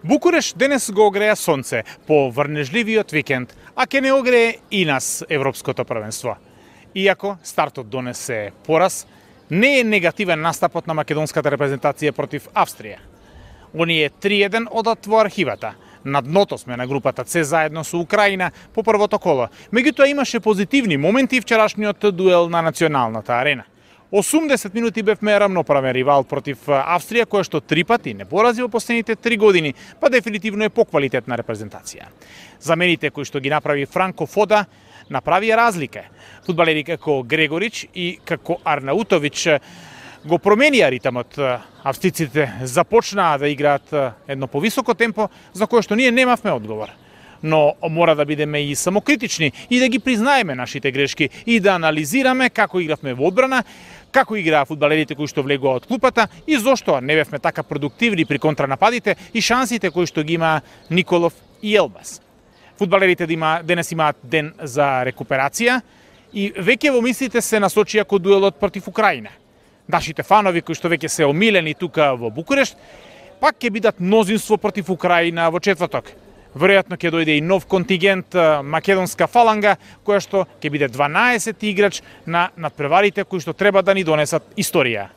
Букуреш денес го огреа сонце по врнежливиот викенд, а ке не огрее и нас Европското првенство. Иако стартот донесе пораз, не е негативен настапот на македонската репрезентација против Австрија. Оние 3-1 одат во архивата. На дното сме на групата С заедно со Украина по првото коло. Меѓутоа имаше позитивни моменти вчерашниот дуел на националната арена. 80 минути бевме рамноправен ривал против Австрија, која што 3 пати не порази во последните 3 години, па дефинитивно е поквалитетна репрезентација. Замените кои што ги направи Франко Фода направија разлика. Фудбалери како Грегорич и како Арнаутович го променија ритмот. Австриците започнаа да играат едно повисоко темпо, за кое што ние немавме одговор. Но мора да бидеме и самокритични и да ги признаеме нашите грешки и да анализираме како игравме во одбрана, како играа фудбалерите кои што влегоа од клупата и зошто не бевме така продуктивни при контранападите и шансите кои што ги има Николов и Елбас. Фудбалерите денес имаат ден за рекуперација и веќе во мислите се насочија кон дуелот против Украина. Нашите фанови кои што веќе се омилени тука во Букурешт, пак ќе бидат мнозинство против Украина во четврток. Веројатно ќе дојде и нов контингент македонска фаланга, која што ќе биде 12 играч на надпреварите кои што треба да ни донесат историја.